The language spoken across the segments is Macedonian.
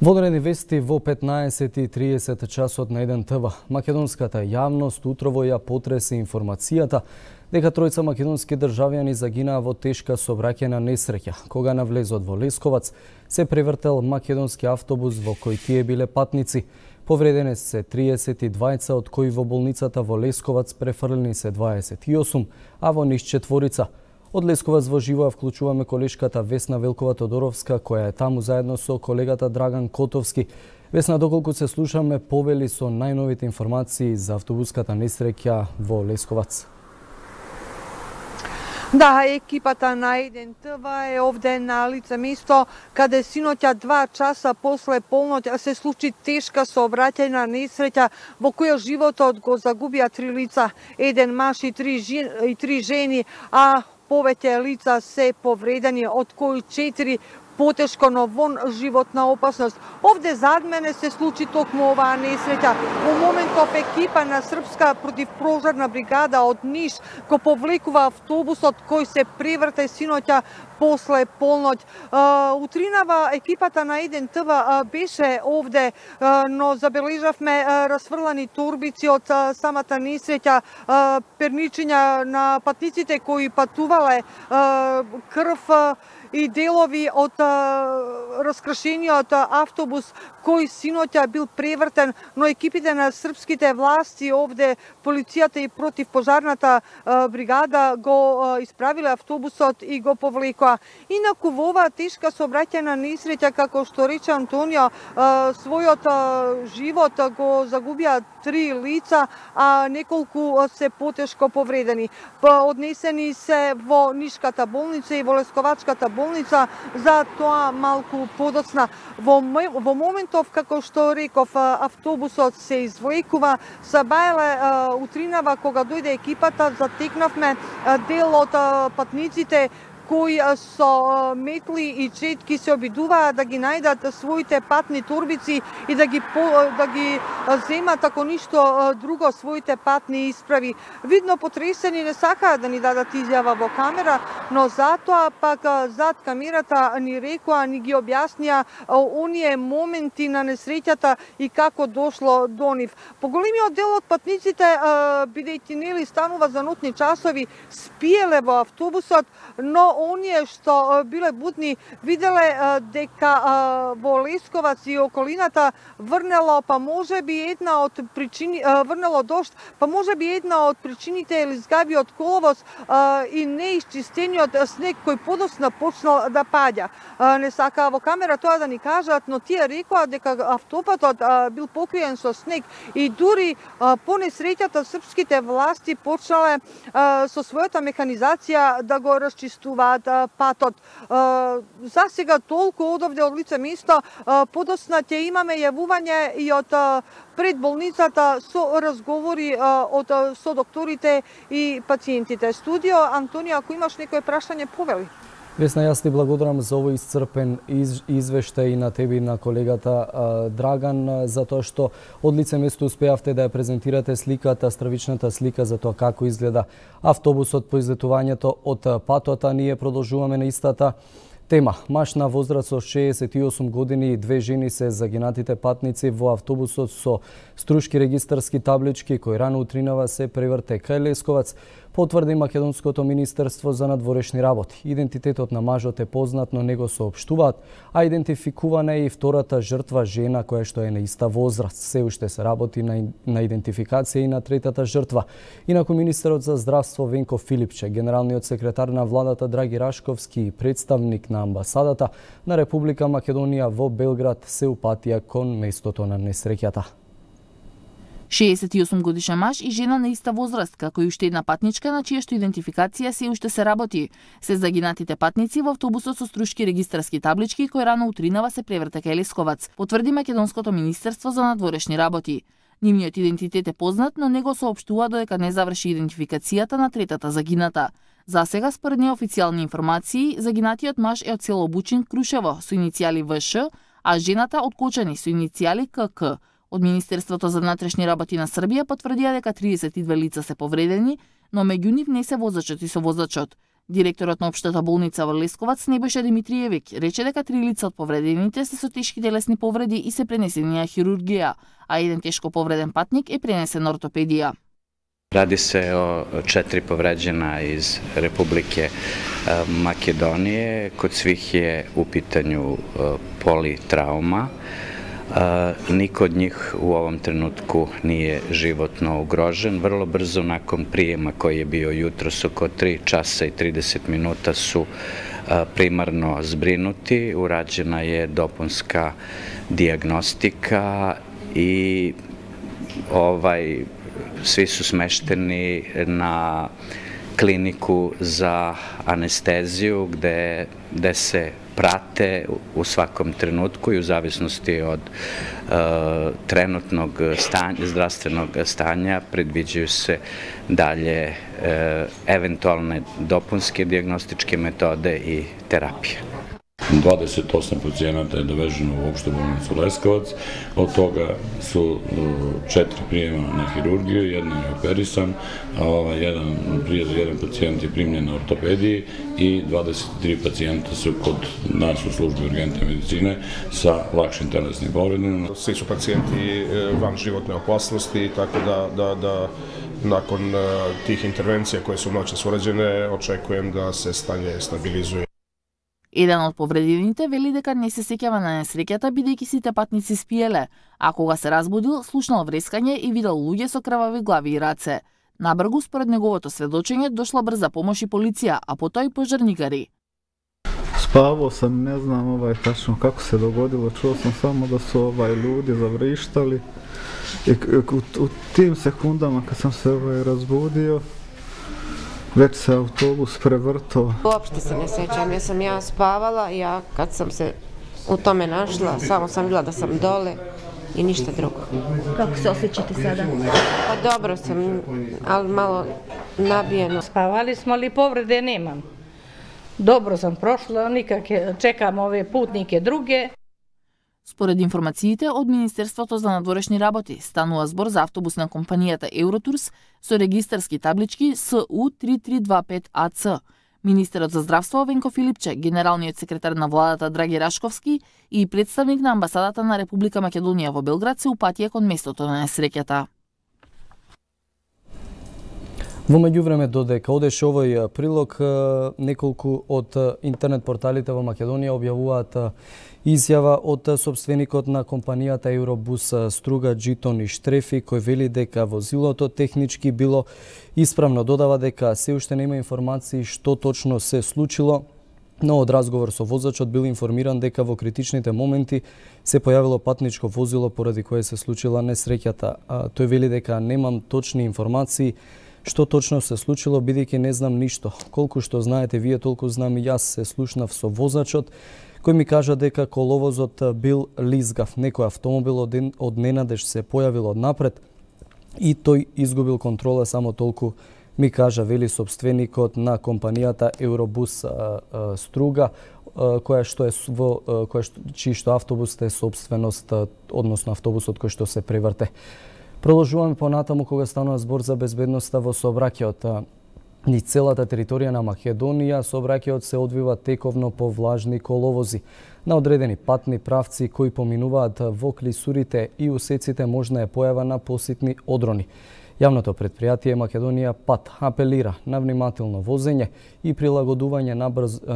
Водени вести во 15:30 часот на 1 ТВ. Македонската јавност утрово ја потреси информацијата дека тројца македонски државјани загинаа во тешка сообраќајна несреќа, кога на влезот во Лесковац се превртел македонски автобус во кој тие биле патници. Повредени се 32, од кои во болницата во Лесковац префрлени се 28, а во Ниш 4. Од Лесковац во живо ја вклучуваме колешката Весна Велкова-Тодоровска, која е таму заедно со колегата Драган Котовски. Весна, доколку се слушаме, повели со најновите информации за автобуската несреќа во Лесковац. Да, екипата на 1 ТВ е овде на лице место, каде синоќа 2 часа после полноќ се случи тешка сообраќајна несреќа во која животот го загубија 3 лица, 1 маж и 3 жени, а повеќе лица се повредени, од кои 4 потешко, но вон животна опасност. Овде зад мене се случи токму оваа несреќа. Во моментов екипа на Српска противпожарна бригада од Ниш го повлекува автобусот кој се преврте синоќа после полноќ. Утринава екипата на 1 ТВ беше овде, но забележавме расфрлани торбици од самата несреќа, перничиња на патниците кои патувале, крв и делови од раскршениот автобус кој синоќа бил превртен, но екипите на српските власти овде, полицијата и противпожарната бригада го исправиле автобусот и го повлекоа. Инаку во оваа тешка сообраќајна несреќа, како што рече Антонио, својот живот го загубија 3 лица, а неколку се потешко повредени. Однесени се во Нишката болница и во Лесковачката болница, за тоа малку подоцна. Во моментов, како што реков, автобусот се извлекува, Сабајле утринава кога дојде екипата, затекнавме дел од патниците кои со метли и четки се обидуваа да ги најдат своите патни турбици и да ги земат, ако ништо друго, своите патни исправи. Видно потресени, не сакаа да ни дадат изјава во камера, но затоа пак зад камерата ни рекоа, ни ги објаснија оние моменти на несреќата и како дошло до нив. Поголемиот дел од патниците, бидејќи нели станува за нотни часови, спиеле во автобусот, но оние што биле будни виделе дека во Лесковац и околината врнело, па можеби една од причини, врнело дожд, па можеби една од причините е лизгавиот коловоз и неисчистениот снег кој подоцна почнал да паѓа. Не сакаа во камера тоа да ни кажат, но тие рекоа дека автопатот бил покриен со снег и дури по несреќата српските власти почнале со својата механизација да го расчистуваат патот. За сега толку од овде од лице место, подоцна ќе имаме јавување и од пред болницата со разговори со докторите и пациентите. Студио, Антонио, ако имаш некој прашање, повели. Весна, јас ти благодарам за овој исцрпен извештај и на тебе и на колегата Драган, за тоа што од лице место успеавте да ја презентирате сликата, стравичната слика за тоа како изгледа автобусот по излетувањето од патот, а ние продолжуваме на истата тема. Маж на возраст со 68 години и 2 жени се загинатите патници во автобусот со струшки регистарски таблички кој рано утринава се преврте кај Лесковац, потврди Македонското министерство за надворешни работи. Идентитетот на мажот е познат, но не го соопштуваат, а идентификувана е и втората жртва, жена која што е на иста возраст. Се уште се работи на идентификација и на третата жртва. Инаку министерот за здравство Венко Филипче, генералниот секретар на владата Драги Рашковски и представник на амбасадата на Република Македонија во Белград се упатија кон местото на несреќата. 68 годишен маж и жена на иста возраст, како и уште една патничка на чија што идентификација се уште се работи. Се загинатите патници во автобусот со струшки регистарски таблички кој рано утринава се преврте кај Лесковац, потврди Македонското министерство за надворешни работи. Нивниот идентитет е познат, но не го соопштува додека не заврши идентификацијата на третата загината. За сега, според неофицијални информации, загинатиот маж е од село Бучин, Крушево, со иницијали ВШ, а жената од Кочани со иницијали КК. Од Министерството за внатрешни работи на Србија потврдија дека 32 лица се повредени, но меѓу нив не се возачот и совозачот. Директорот на Општата болница во Лесковац Небојша Димитриевиќ рече дека 3 лица од повредените се со тешки телесни повреди и се пренесени на хирургија, а еден тешко повреден патник е пренесен на ортопедија. Radi se o 4 povređena iz Republike Makedonije. Kod svih je u pitanju politrauma. Niko od njih u ovom trenutku nije životno ugrožen. Vrlo brzo nakon prijema koji je bio jutros oko 3 časa i 30 minuta su primarno zbrinuti. Urađena je dopunska dijagnostika i svi su smešteni na kliniku za anesteziju gde se prate u svakom trenutku i u zavisnosti od trenutnog zdravstvenog stanja predviđaju se dalje eventualne dopunske dijagnostičke metode i terapije. 28 pacijenata je doveženo u opštu bolnicu Leskovac, od toga su 4 prijema na hirurgiju, jedan je operisan, a jedan pacijent je primljen na ortopediji i 23 pacijenta su kod nas u službi urgentne medicine sa lakšim telesnim povredama. Svi su pacijenti van životne opasnosti, tako da nakon tih intervencija koje su noćas urađene, očekujem da se stanje stabilizuje. Еден од повредените вели дека не се сеќава на несреќата бидејќи сите патници спиеле, а кога се разбудил, слушнал врескање и видел луѓе со крвави глави и раце. Набргу, според неговото сведочење, дошла брза помош и полиција, а потоа и пожарникари. Spavao sam, ne znam tačno kako se dogodilo, čuo sam samo da su ljudi zavrištali i u tim sekundama kad sam se razbudio, već se autobus prevrtao. Uopšte se ne sećam, jer sam ja spavala, kad sam se u tome našla, samo sam bila da sam dole i ništa drugo. Kako se osjećate sada? Pa dobro sam, ali malo nabijeno. Spavali smo, ali povrede nemam. Dobro sam prošla, nikakve, čekam ove putnike druge. Според информациите од Министерството за надворешни работи, станува збор за автобус на компанијата Евротурс со регистарски таблички СУ 3325АЦ. Министерот за здравство Венко Филипче, генералниот секретар на владата Драги Рашковски и представник на амбасадата на Република Македонија во Белград се упатија кон местото на несреќата. Во меѓувреме, додека одеше овој прилог, неколку од интернет порталите во Македонија објавуваат изјава од собственикот на компанијата Евробус Струга Джитон Штрефи, кој вели дека возилото технички било исправно. Додава дека се уште нема информации што точно се случило, но од разговор со возачот бил информиран дека во критичните моменти се појавило патничко возило поради кое се случила несреќата. Тој вели дека немам точни информации што точно се случило, бидејќи не знам ништо. Колку што знаете вие, толку знам и јас, се слушнав со возачот, кој ми кажа дека коловозот бил лизгав. Некој автомобил од ненадеж се појавил од напред и тој изгубил контрола, само толку ми кажа, вели собственикот на компанијата Евробус Струга, чијшто автобус е собственост, односно автобусот кој што се преврте. Продолжуваме понатаму кога станува збор за безбедноста во сообраќајот. Низ целата територија на Македонија сообраќајот се одвива тековно по влажни коловози. На одредени патни правци кои поминуваат во клисурите и усеците можна е појава на поситни одрони. Јавното предпријатие Македонија Пат апелира на внимателно возење и прилагодување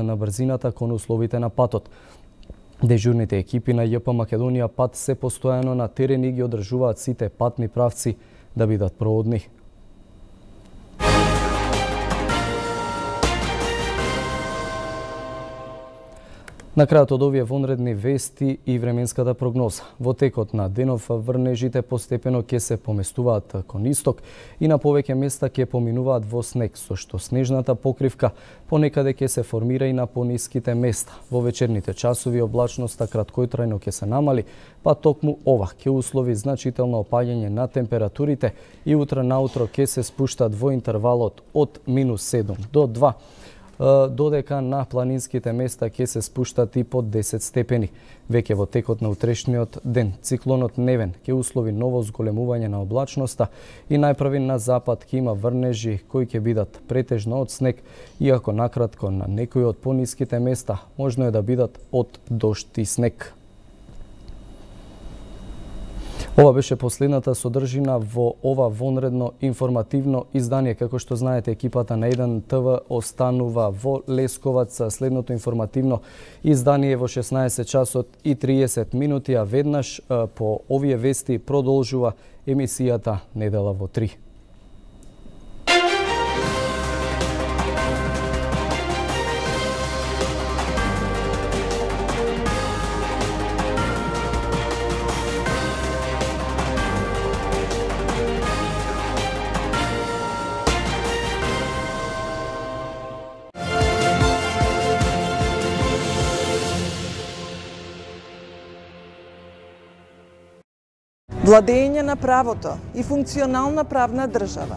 на брзината кон условите на патот. Дежурните екипи на ЈП Македонија Пат се постојано на терен и ги одржуваат сите патни правци да бидат проводни. На крајот од овие вонредни вести и временската прогноза. Во текот на денов врнежите постепено ќе се поместуваат кон исток и на повеќе места ќе поминуваат во снег, со што снежната покривка понекаде ќе се формира и на пониските места. Во вечерните часови облачноста краткотрајно ќе се намали, па токму ова ќе услови значително опаѓање на температурите и утре наутро ќе се спуштат во интервалот од -7 до 2. додека на планинските места ќе се спуштат и под 10 степени. Веќе во текот на утрешниот ден циклонот Невен ќе услови ново зголемување на облачноста и најпрви на запад ќе има врнежи кои ќе бидат претежно од снег, иако накратко на некои од пониските места можно е да бидат од дожд и снег. Ова беше последната содржина во ова вонредно информативно издание. Како што знаете, екипата на 1 ТВ останува во Лесковац. Следното информативно издание во 16 часот и 30 минути, а веднаш по овие вести продолжува емисијата Недела во 3. Владење на правото и функционална правна држава.